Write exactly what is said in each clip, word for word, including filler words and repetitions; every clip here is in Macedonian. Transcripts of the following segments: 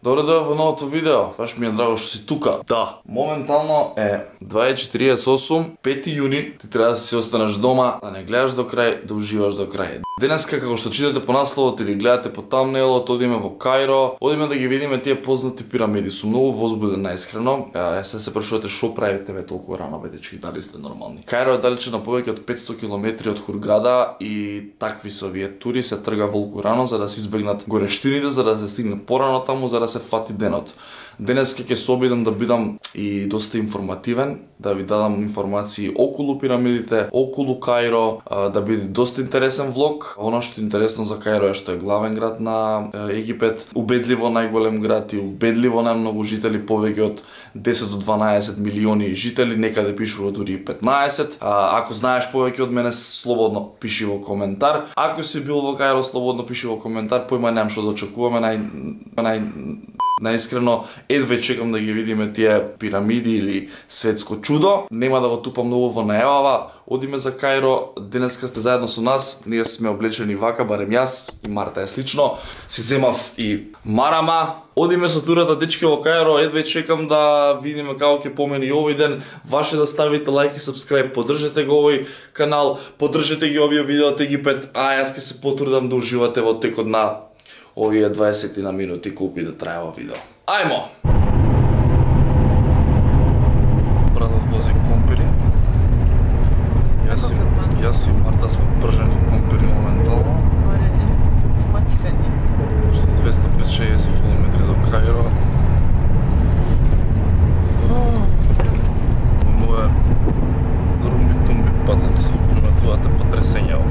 Добре дојде во новото видео, баш ми е драго што си тука. Да, моментално е дваесет и четиридесет и осум, пети јуни, ти треба да си останеш дома, да не гледаш до крај, да уживаш до крај. Денеска, како што читате по насловот или гледате по тамнейлот, одиме во Кајро, одиме да ги видиме тие познати пирамиди. Сум многу возбуден наискрено. Е, се се прашувате шо правите ве толку рано, бе дечки, дали сте нормални? Кајро е далече на повеќе од петсто километри од Хургада и такви се овие тури се трга волку рано за да се избегнат горештините, за да се стигне порано таму, за да се фати денот. Денес ќе се обидам да бидам и доста информативен, да ви дадам информации околу пирамидите, околу Кајро, да биде доста интересен влог. Оно што е интересно за Кајро е што е главен град на Египет, убедливо најголем град и убедливо најмногу жители, повеќе од десет до дванаесет милиони жители, некаде пишува дури и петнаесет. А, ако знаеш повеќе од мене, слободно пиши во коментар. Ако си бил во Кајро, слободно пиши во коментар. Поима немам што да очекуваме, нај нај најискрено едве чекам да ги видиме тие пирамиди или светско чудо. Нема да го тупам многу во најавава. Одиме за Кајро, денеска сте заедно со нас. Ние сме облечени вака, барем јас и Марта е слично. Си земав и марама. Одиме со турата, дечки, во Кајро. Едве чекам да видиме како ќе помени овој ден. Ваше да ставите лайк и сабскрајб, поддржете го овој канал, поддржете ги овие видео од Египет, а јас ќе се потрудам да уживате во текот на овие дваесет на минути, колку и да трае ова видео. Ајмо! Братот вози компири. Јас и, јас и Марта сме пржени компири моментално. Варени, смачкани. Уште двеста петдесет километри до Кајро. Му е румби-тумби патот. Приметувате потресењаво.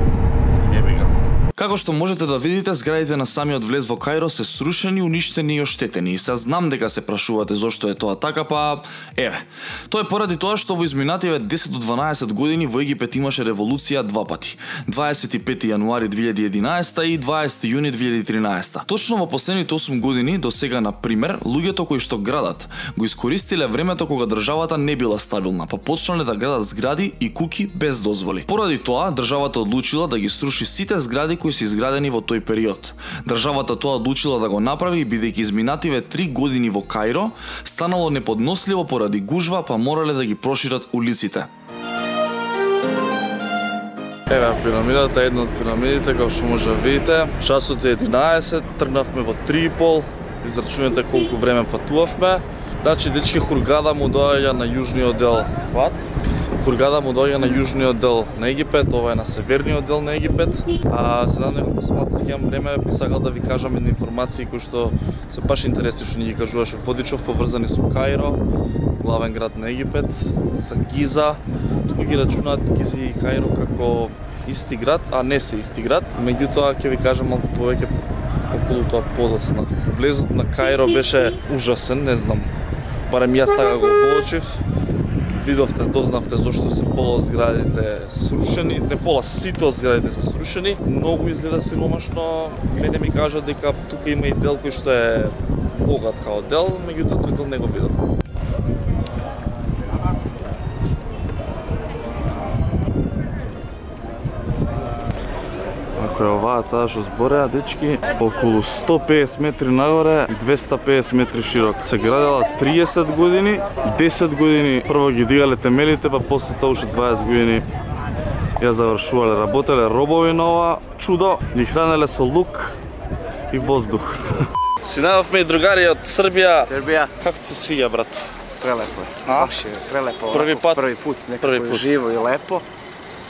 Јеби го. Како што можете да видите, зградите на самиот влез во Кајро се срушени, уништени и оштетени. И се знам дека се прашувате зошто е тоа така, па еве. Тоа е поради тоа што во изминативе десет до дванаесет години во Египет имаше револуција два пати. дваесет и пети јануари две илјади и единаесета и дваесети јуни две илјади и тринаесета. Точно во последните осум години до сега, на пример, луѓето кои што градат го искористиле времето кога државата не била стабилна, па почнале да градат згради и куки без дозволи. Поради тоа државата одлучила да ги сруши сите згради кои се изградени во тој период. Државата тоа одлучила да го направи бидејќи изминативе три години во Кајро станало неподносливо поради гужва, па морале да ги прошират улиците. Еве пирамидата, една од пирамидите, како што може да видите. Часот е единаесет, тргнавме во три и пол, израчунете колку време патувавме. Значи, дечки, Хургада му доаѓа на јужниот дел. What? Хургада му доаѓа на јужниот дел на Египет, ова е на северниот дел на Египет. А сега него посматривам имам време, би сакал да ви кажам едни информации кои што се баш интересни што ни ги кажуваше Водичов, поврзани со Кајро, главен град на Египет, за Гиза. Тука ги рачунаат Гиза и Кајро како исти град, а не се исти град. Меѓутоа ќе ви кажам малку повеќе околу тоа подоцна. Влезот на Кајро беше ужасен, не знам. Барем јас така го воочив. Видовте, дознавте зошто се пола од зградите срушени, не пола, сите од зградите се срушени. Многу изгледа сиромашно. Мене ми кажа дека тука има и дел кој што е богат као дел, меѓутоа тој дел не го видов. Ако е оваа таа што збореа, дечки, околу сто педесет метри нагоре, двеста педесет метри широк. Се градела триесет години, десет години прво ги дигале темелите, па после тоа уште дваесет години ја завршувале. Работеле робови на ова чудо, ги хранеле со лук и воздух. Си најавме и другари од Србија. Србија. Како ти се свиѓа, брат? Прелепо е. А? Баш е прелепо. Први пат? Први пут, некако живо и лепо.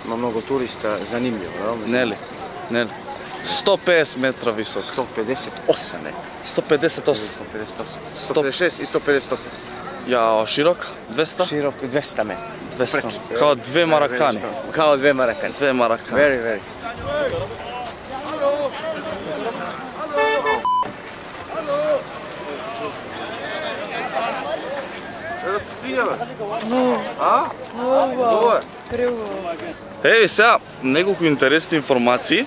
Има многу туриста, занимљиво, да? Нели? Нели? сто педесет метра висок. сто педесет и осам е. сто педесет и осам. сто педесет и осам. сто педесет и шест и сто педесет и осам. Ја, широк? двеста? Широк двеста метра. двеста. Као две маракани. Као две маракани. Две маракани. Very, very. Ево ти си, бе? А? Ова. Еви сега, неколку интересни информации.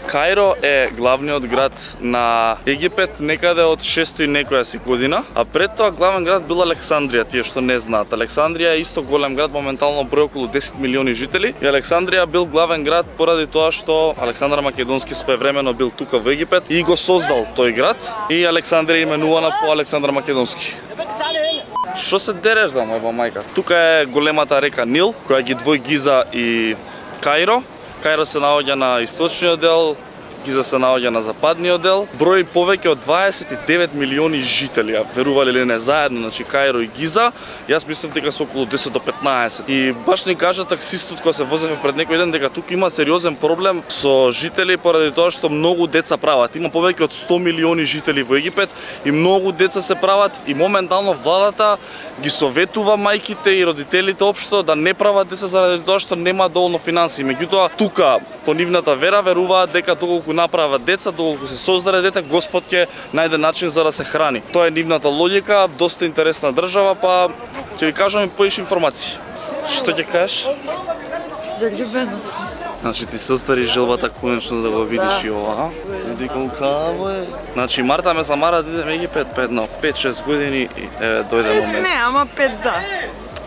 Каиро е главниот град на Египет некаде од шесто и некоја си година, а пред тоа главен град бил Александрија, тие што не знаат. Александрија е исто голем град, моментално број околу десет милиони жители, и Александрија бил главен град поради тоа што Александар Македонски своевремено бил тука во Египет и го создал тој град, и Александрија именувана по Александар Македонски. Што се дереш да моја мајка? Тука е големата река Нил, која ги двои Гиза и Каиро. Каиро се наоѓа на источниот дел, Гиза се наоѓа на западниот дел. Број повеќе од дваесет и девет милиони жители, а верували ли не, заедно, значи Каиро и Гиза. Јас мислев дека се околу десет до петнаесет. И баш ни кажа таксистот кога се возевме пред некој ден дека тука има сериозен проблем со жители поради тоа што многу деца прават. Има повеќе од сто милиони жители во Египет и многу деца се прават, и моментално владата ги советува мајките и родителите општо да не прават деца заради тоа што нема доволно финансии. Меѓутоа тука по нивната вера веруваат дека доколку направат деца, доколку се создаде дете, Господ ќе најде начин за да се храни. Тоа е нивната логика, доста интересна држава, па ќе ви кажам и поиш информации. Што ќе кажеш? Заљубеност. Значи ти се оствари желбата конечно да го видиш и ова, а? Еди колкаво е. Значи Марта ме замара да идем Египет па едно пет-шест години и е, дојде Шест момент. не, ама пет да.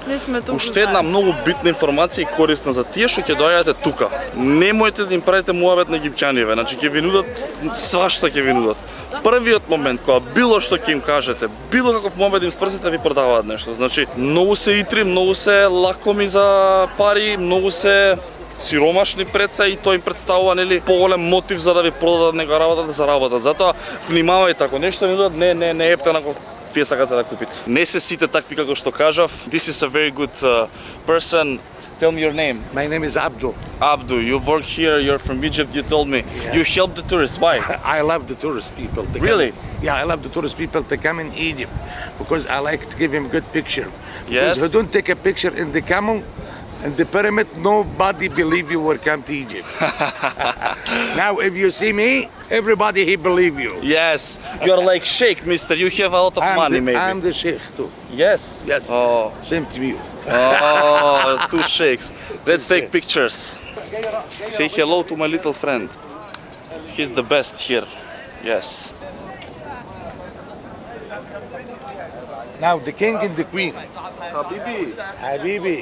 Не сме толку Уште една многу битна информација и корисна за тие што ќе доаѓате тука. Немојте да им правите муабет на египтјаниве, значи ќе ви нудат свашта ќе ви нудат. Првиот момент кога било што ќе им кажете, било каков муабет им сврзите, ви продаваат нешто. Значи многу се итри, многу се лакоми за пари, многу се сиромашни преца и тоа им представува нели поголем мотив за да ви продадат нека работа да заработат. Затоа внимавајте, ако нешто ви нудат, не не не епте на вие сакате да купите. Не се сите такви како што кажав. This is a very good uh, person. Tell me your name. My name is Abdul. Abdu, you work here, you're from Egypt, you told me. Yes. You help the tourists, why? I love the tourist people. To Really? Come, yeah, I love the tourist people to come in Egypt because I like to give him good picture. Yes. Because who don't take a picture in the camel and the pyramid, nobody believe you will come to Egypt. Now, if you see me, everybody he believe you. Yes, you're like sheikh, mister. You have a lot of I'm money, the, maybe. I'm the sheikh too. Yes? Yes. Oh, Same to you. oh two sheikhs. Let's take pictures. Say hello to my little friend. He's the best here. Yes. Now the king and the queen. Habibi. Habibi.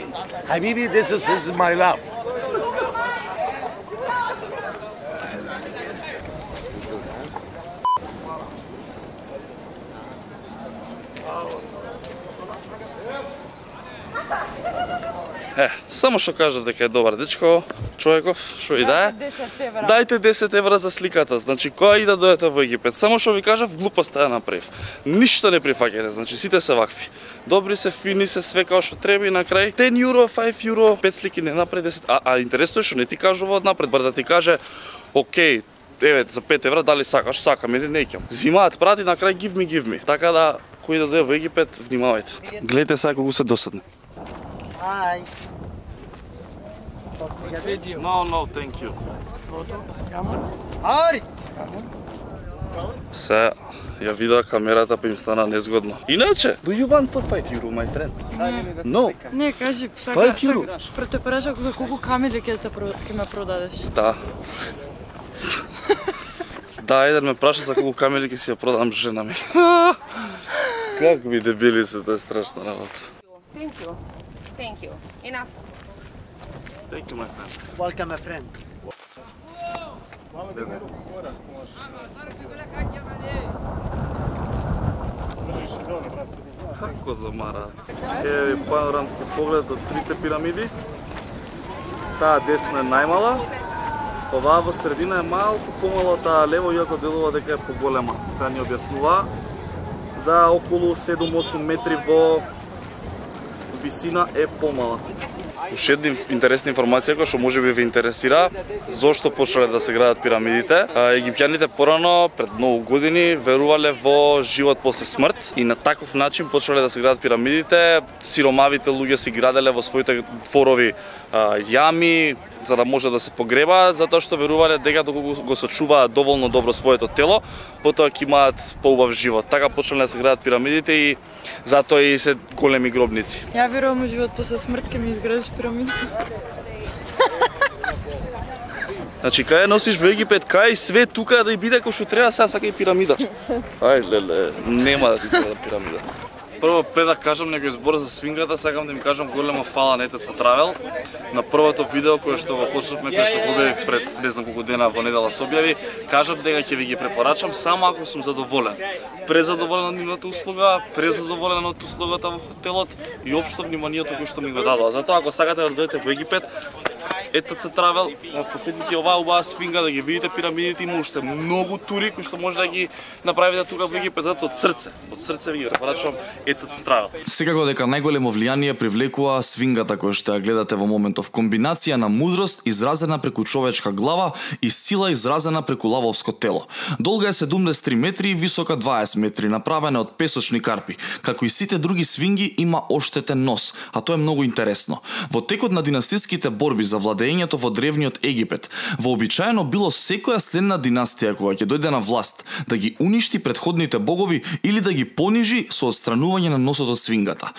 Habibi, this is, this is my love. Е, само што кажав дека е добар дечко, човеков, што и да е. Дајте десет евра за сликата. Значи, која и да дојдете во Египет, само што ви кажав, глупоста ја направив. Ништо не прифаќате, значи сите се вакви. Добри се, фини се, све како што треба и на крај. десет јуро, пет јуро, пет слики не направи десет. А, а интересно е што не ти кажува од напред, бар да ти каже, окей, еве за пет евра дали сакаш, сакам или не ќам. Зимаат прати на крај give me give me. Така да кој да дојде во Египет, внимавајте. Гледате сега колку се досадни. Hi. No, no, thank you. Ari. Се, ја видоа камерата па им стана незгодно. Иначе, do you want for five euro, my friend? No. Не, кажи, сака, five euro. сака, те прашав за колку камили ќе те про- ќе ме продадеш. Да. Да, еден ме праша за колку камели ќе си ја продам жена ми. Как ми дебили се, тоа е страшна работа. Thank you. Thank you. Enough. Thank you, my friend. Welcome, my friend. Како замара? Е панорамски поглед од трите пирамиди. Таа десно е најмала. Оваа во средина е малку помала, таа лево иако делува дека е поголема. Сега ни објаснува за околу седум-осум метри во висина е помала. Уште една интересна информација која што може би ве интересира, зошто почнале да се градат пирамидите. Египтјаните порано, пред многу години, верувале во живот после смрт и на таков начин почнале да се градат пирамидите. Сиромавите луѓе си граделе во своите дворови јами, за да може да се погребаат, затоа што верувале дека доколку го сочуваат доволно добро своето тело, потоа ќе имаат поубав живот. Така почнале да се градат пирамидите и затоа и се големи гробници. Ја верувам во живот после смрт ќе ми изградиш пирамида. Значи, кај носиш во Египет, кај све тука да и биде кој што треба, сега сака и пирамида. Ај, леле, нема да ти се пирамида. Прво, пред да кажам некој збор за свингата, сакам да ми кажам голема фала на Е Те Це Travel. На првото видео кое што го почнавме, кое што го објавив пред не знам колку дена во недела се објави, кажав дека ќе ви ги препорачам само ако сум задоволен. Презадоволен од нивната услуга, презадоволен од услугата во хотелот и општо вниманието кое што ми го дадоа. Затоа ако сакате да дојдете во Египет, Е Те Це Travel, посетите оваа убава свинга да ги видите пирамидите, има уште многу тури кои што може да ги направите тука во Египет, затоа од срце, од срце ви ги препорачувам Е Те Це Travel. Секако дека најголемо влијание привлекува свингата која што ја гледате во моментов. Комбинација на мудрост изразена преку човечка глава и сила изразена преку лавовско тело. Долга е седумдесет и три метри и висока дваесет метри, направена од песочни карпи. Како и сите други свинги има оштетен нос, а тоа е многу интересно. Во текот на династиските борби за владењето во древниот Египет, вообичаено било секоја следна династија која ќе дојде на власт да ги уништи претходните богови или да ги понижи со отстранување на носот од свингата.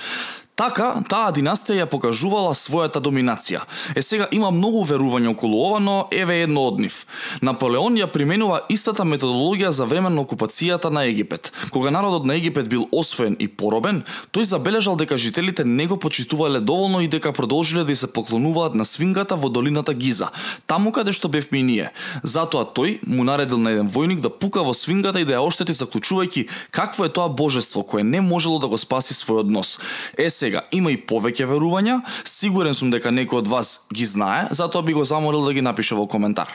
Така, таа династија ја покажувала својата доминација. Е сега има многу верувања околу ова, но еве едно од нив. Наполеон ја применува истата методологија за време на окупацијата на Египет. Кога народот на Египет бил освоен и поробен, тој забележал дека жителите не го почитувале доволно и дека продолжиле да се поклонуваат на свингата во долината Гиза, таму каде што бевме и ние. Затоа тој му наредил на еден војник да пука во свингата и да ја оштети, заклучувајќи какво е тоа божество кое не можело да го спаси својот нос. Е сега, има и повеќе верувања, сигурен сум дека некој од вас ги знае, затоа би го замолил да ги напише во коментар.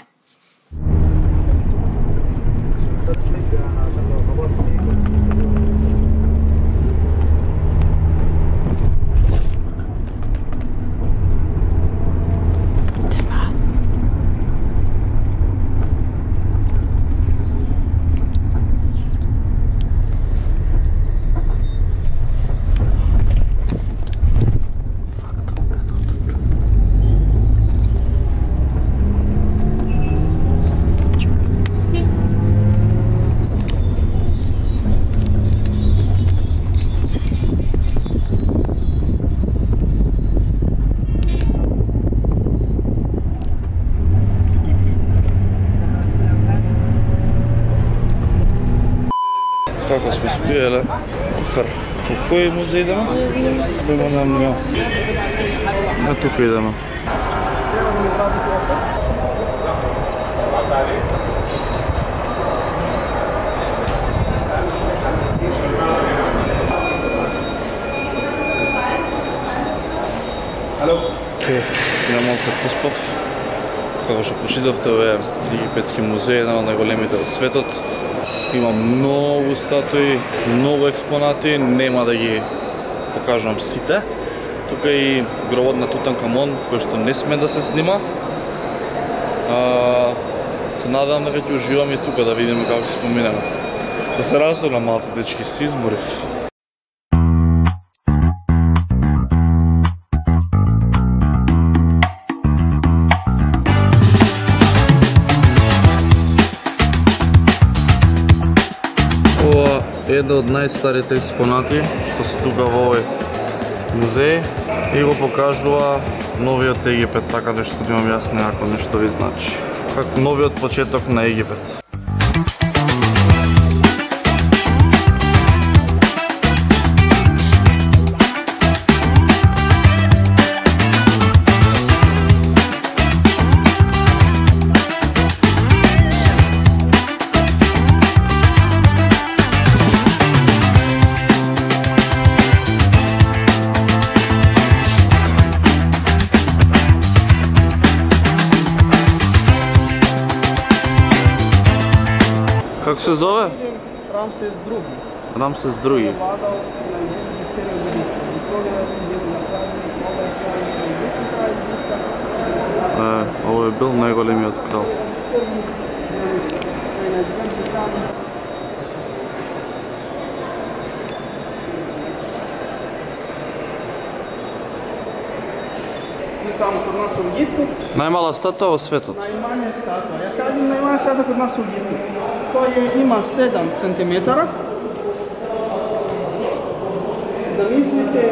Како сме спиеле? Куфер. По кој музеј идеме? Не знам. Кој му не А тука идеме. Ке, ја малце поспав. Како што почитавте, овој Египетски музеј, еден од најголемите во светот. Има многу статуи, многу експонати, нема да ги покажувам сите. Тука и гробот на Тутанкамон, кој што не сме да се снима. А, се надевам дека ќе уживам и тука да видиме како ќе споминеме. Да се разорна малце, дечки, си изморив. Ова е една од најстарите експонати што се тука во овој музеј и го покажува новиот Египет, така нешто да имам јас некако нешто ви значи. Како новиот почеток на Египет. Како се зове? Рамсес други. Рамсес други. Е, ово е бил најголемиот крал. Не само кod nas u Egiptu. Најмала статуа во светот. Najmanja statua. Ja kažem najmanja statua kod nas u Egiptu. To je, ima sedam centimetara. Zamislite,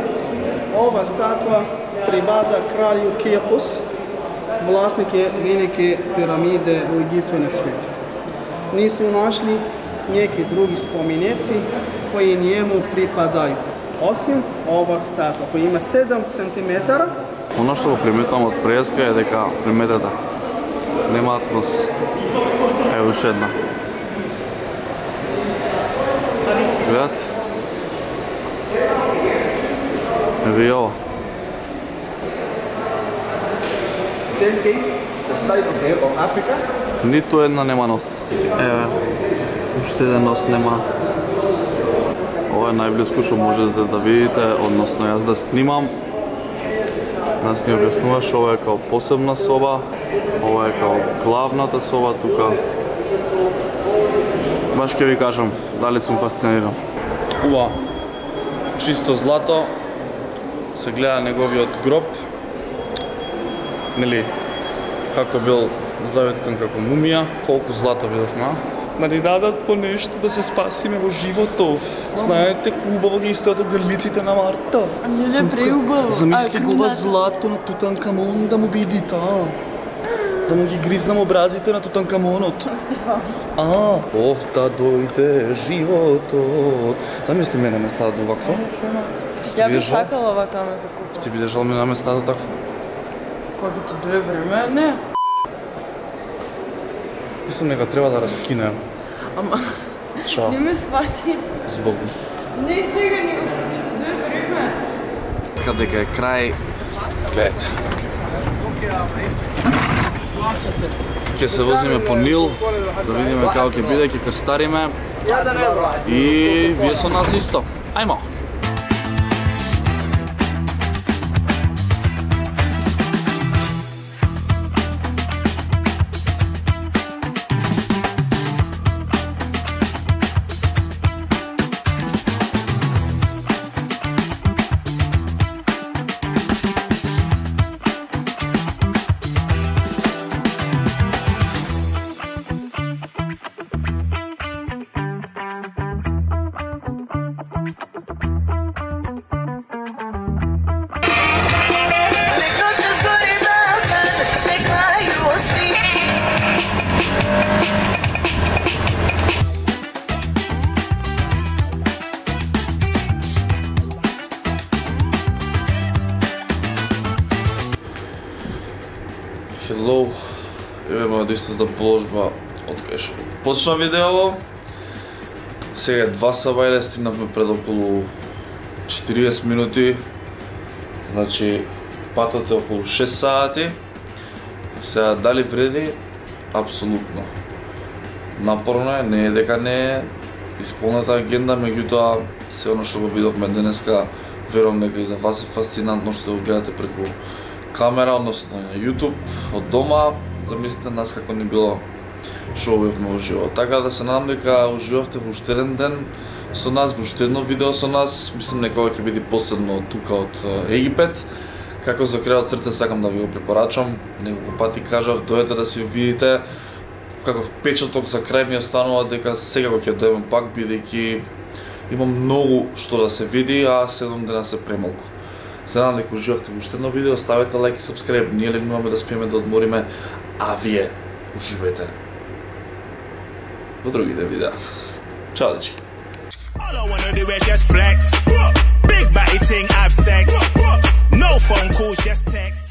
ova statua pripada kralju Kepos. vlasnik je velike piramide u Egiptu i na svijetu. Nisu našli neki drugi spomeneci koji njemu pripadaju, osim ova statua koja ima sedam centimetara. Ono што го приметувам од преска е дека приметата немаат нос. Ево уште една. Гледате? Ево и ова. Selke, sastavi se od Afrika. Ниту една нема нос. Еве, уште еден нос нема. Ова е најблиску што можете да видите, односно јас да снимам. Нас ни објаснуваш, ова е као посебна соба, ова е као главната соба тука. Баш ќе ви кажам, дали сум фасциниран. Ова, чисто злато, се гледа неговиот гроб. Нели, како бил заветкан како мумија, колку злато видовме. Да ни дадат по нешто да се спасиме во животов. Знаете, убаво ги стојат грлиците на Марта. А не е преубаво. Замисли го ова злато на Тутанкамон да му биде таа. Да му ги гризнам образите на Тутанкамонот. А, овта дојде животот. Замисли мене местата овакво. Ја би сакала овака ме закупа. Ти би държал ме на местата такво? Кога ти дое време, не. Мислам нека треба да раскинем. Ама, Чао. не ме свати. Збогу. Не сега, него ти дое време. Така дека е крај. Гледайте. Ќе се возиме по Нил, да видиме како ќе биде, ќе крстариме. И вие со нас исто. Ајмо. Hello, еве моја истата положба од кај што почна видео. Сега е два саба, стигнавме пред околу четириесет минути. Значи, патот е околу шест сати. Сега дали вреди? Апсолутно. Напорно е, не е дека не е исполната агенда, меѓутоа се оно што го видовме денеска, верувам дека и за вас е фасцинантно што го гледате преку камера, односно на YouTube, од дома, да мислите нас како не било што увивме уживо. Така да се надам дека уживавте во уште еден ден со нас, во уште едно видео со нас. Мислам некога ќе биде последно тука од Египет. Како за крај од срце сакам да ви го препорачам. Неколку пати кажав, дојдете да си видите. Каков впечаток за крај ми останува дека секако ќе дојдем пак, бидејќи има многу што да се види, а седум дена се премалку. Се надам дека уживавте во уште едно видео, ставете лайк и сабскрайб, ние легнуваме да спиеме да одмориме, а вие уживајте во другите видеа. Чао, дечки! All I wanna do is just flex. Big body thing, have sex. No phone calls, just text.